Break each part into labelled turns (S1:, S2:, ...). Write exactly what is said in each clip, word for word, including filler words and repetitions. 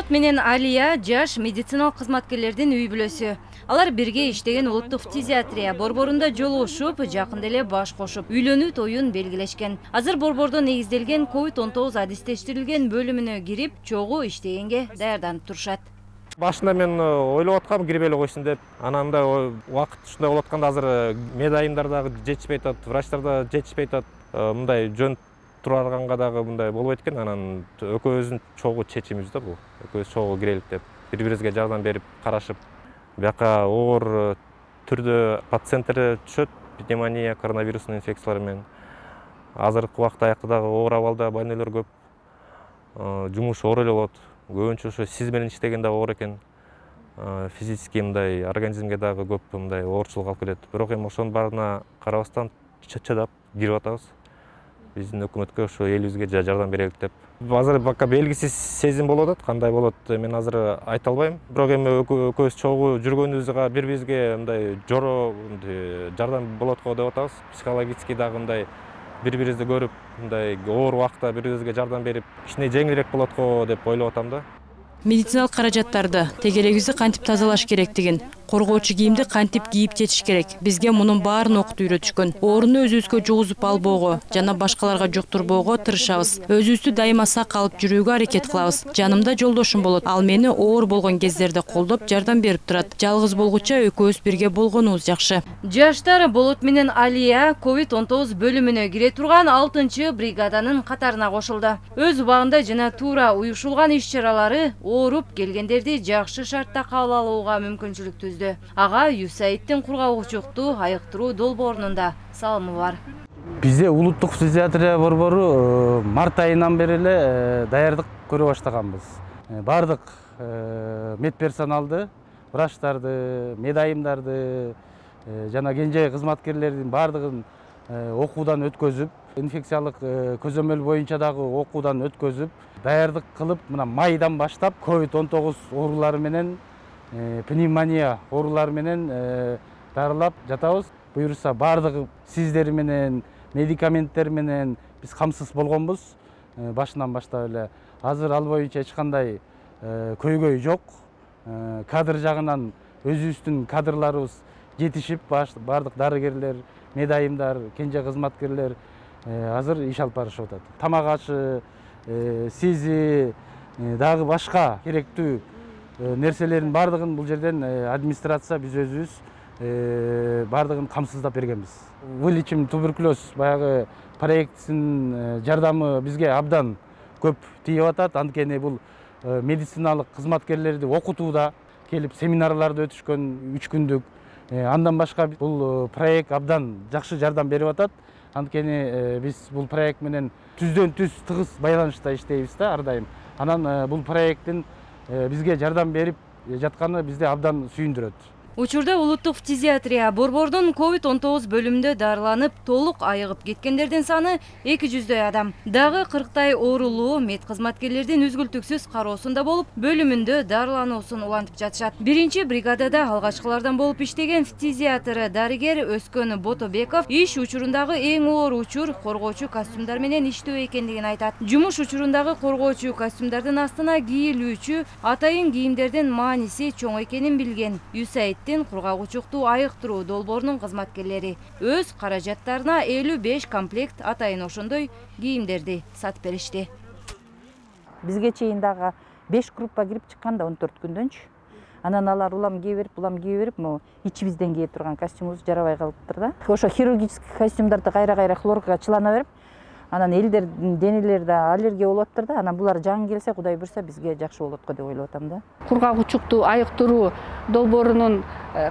S1: Болот менен Алия жаш медициналык кызматкерлердин үй бүлөсү. Алар бирге иштеген улуттук фтизиатрия борборунда жолугушуп, жакында эле баш кошуп, үйлөнүү тоюн белгилешкен. Азыр борбордо негизделген ковид он тогуз адистештирилген бөлүмүнө кирип, чогуу иштегенге даярданып турушат.
S2: Башында мен ойлоп аткам кирип эле койсун деп. Анан да убакыт ушундай болуп атканда азыр медайымдар дагы жетишпей атат, врачтар да жетишпей атат. Мындай жөн турганга дагы мындай болбойт экен. Анан экөөбүздүн чогуу чечимибиз да бул. Экөөбүз чогуу кирелик деп, бири-бирибизге жардам берип карашып, бияка оор түрдө пациенттер түшөт, пневмония, коронавирустун инфекциялары менен. Азыркы убакта аякта дагы оор абалда больнойлор көп. Жумуш оор эле болот. Көбүнчө ошо сиз менен иштеген дагы оор экен. Физически мындай организмге дагы көп мындай оорчулук алып келет. Бирок эми ошонун баарына карабастан чыдап кирип атабыз. Биздин өкмөткө ошо элибизге жардам берелик деп. Азыр бака белгисиз сезим болуп атат. Кандай болот мен азыр айта албайм. Бирок эми экөөбүз чогуу жүргөнүбүзгө бири-бирибизге мындай жоро жардам болот го деп атабыз. Психологически дагы мындай бири-бирибизди көрүп, мындай оор убакта бири-бирибизге жардам берип, кичине жеңилирээк болот го деп ойлоп атам да.
S3: Медициналык каражаттарды, тегерегибизди кантип тазалаш керектигин, коргоочу кийимди кантип кийип жетиш керек. Бизге мунун баарын окутуп үйрөтүшкөн. Ооруну өзүбүзгө жугузуп албоого жана башкаларга жуктурбоого тырышабыз. Өзүбүздү дайыма сак алып жүрүүгө аракет кылабыз. Жанымда жолдошум болот. Ал мени оор болгон кездерде колдоп, жардам берип турат. Жалгыз болгуча экөөбүз бирге болгонубуз жакшы.
S1: Жаштар Болот менен Алия ковид он тогуз бөлүмүнө кире турган алтынчы бригаданын катарына кошулду. Өз убагында жана туура уюшулган иш-чаралары ооруп келгендерди жакшы шартта кабыл алууга мүмкүнчүлүк түздү. Ага Юсаиддин кургагучукту айыктыруу долбоорунун да салымы бар.
S4: Бизде улуттук фтизиатрия борбору март айынан бери эле даярдык көрө баштаганбыз. Бардык медперсоналды, врачтарды, медайымдарды жана кенже кызматкерлердин бардыгын окуудан өткөзүп, инфекциялык көзөмөл боюнча дагы окуудан өткөзүп, даярдык кылып, мына майдан баштап ковид он тогуз оорулары менен, пневмония оорулары менен дарылап жатабыз. Буюрса бардыгы сиздер менен, медикаменттер менен биз камсыз болгонбуз башынан баштап эле. Азыр ал боюнча эч кандай көйгөй жок. Кадр жагынан өзүбүздүн кадрларыбыз жетишип, бардык дарыгерлер, медайымдар, кенже кызматкерлер азыр иш алып барышып атат. Тамак ашы, сизи дагы башка керектүү нерселерин бардыгын бул жерден администрация биз өзүбүз бардыгын камсыздап бергенбиз. Вылечим туберкулез баягы проектисинин жардамы бизге абдан көп тийип атат. Анткени бул медициналык кызматкерлерди окутууда келип семинарларды өтүшкөн үч күндүк. Андан башка бул проект абдан жакшы жардам берип атат. Анткени биз бул проект менен түздөн түз тыгыз байланышта иштейбиз да ар дайым. Анан бул проекттин бизге жардам берип жатканы бизди абдан сүйүндүрөт.
S1: Учурда улуттук фтизиатрия борбордун ковид он тогуз бөлүмүндө дарыланып, толук айыгып кеткендердин саны эки жүздөй адам. Дагы кырктай оорулуу мед кызматкерлердин үзгүлтүксүз кароосунда болуп, бөлүмүндө дарылануусун улантып жатышат. Биринчи бригадада алгачкылардан болуп иштеген фтизиатр дарыгер Өскөн Ботобеков иш учурундагы эң оор учур коргоочу костюмдар менен иштөө экендигин айтат. Жумуш учурундагы коргоочу костюмдардын астына кийилүүчү атайын кийимдердин мааниси чоң экенин билген Юсаид кургагучукту айыктыруу долбоорунун кызматкерлери өз каражаттарына элүү беш комплект атайын ошондой кийимдерди сатып беришти.
S5: Бизге чейин дагы беш группа кирип чыккан да он төрт күндөнчү. Анан алар улам кие берип, улам кие берип, могу ичибизден кие турган костюмубуз жарабай калыптыр да. Ошо хирургический костюмдарды кайра-кайра хлоркага чылана берип, анан элдердин денелерде аллергия болуп атыптыр да. Анан булар жаңы келсе, Кудай буйрса бизге жакшы болот го деп ойлоп атам да.
S6: Кургагучукту айыктыруу долбоорунун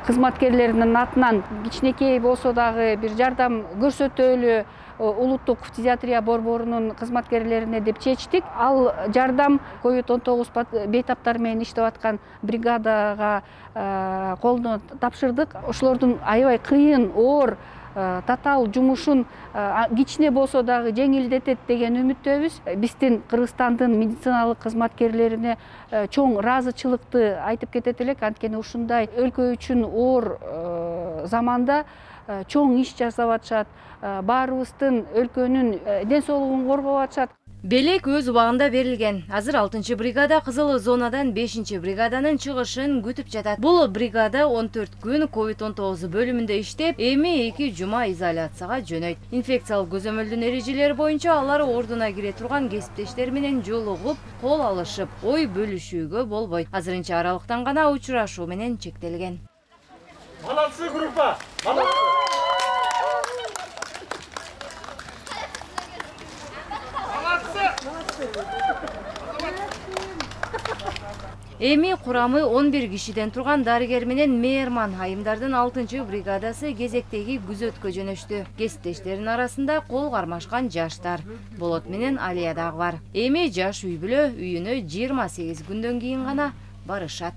S6: кызматкерлеринин атынан кичинекей болсо дагы бир жардам көрсөтөлү улуттук фтизиатрия борборунун кызматкерлерине деп чечтик. Ал жардам ковид он тогуз бейтаптар менен иштеп аткан бригадага колуна тапшырдык. Ошолордун аябай кыйын, оор татаал жумушун кичине болсо дагы жеңилдетет деген үмүттөбүз. Биздин Кыргызстандын медициналык кызматкерлерине чоң ыраазычылыкты айтып кетет элек. Анткени ушундай өлкө үчүн оор заманда чоң иш жасап атышат. Баарыбыздын өлкөнүн ден соолугун коргоп атышат.
S1: Белек өз убагында берилген. Азыр алтынчы бригада кызыл зонадан бешинчи бригаданын чыгышын күтүп жатат. Бул бригада он төрт күн ковид он тогуз бөлүмүндө иштеп, эми эки жума изоляцияга жөнөйт. Инфекциялык көзөмөлдүн эрежелери боюнча алар ордуна кире турган кесиптештер менен жолугуп, кол алышып, ой бөлүшүүгө болбойт. Азырынча аралыктан гана учурашуу менен чектелген.
S7: Молодцы, группа! Молодцы!
S1: Эми курамы он бир кишиден турган дарыгер менен мээрман айымдардын алтынчы бригадасы кезектеги күзөткө жөнөштү. Кесиптештердин арасында кол кармашкан жаштар, Болот менен Алия дагы бар. Эми жаш үй бүлө үйүнө жыйырма сегиз күндөн кийин гана барышат.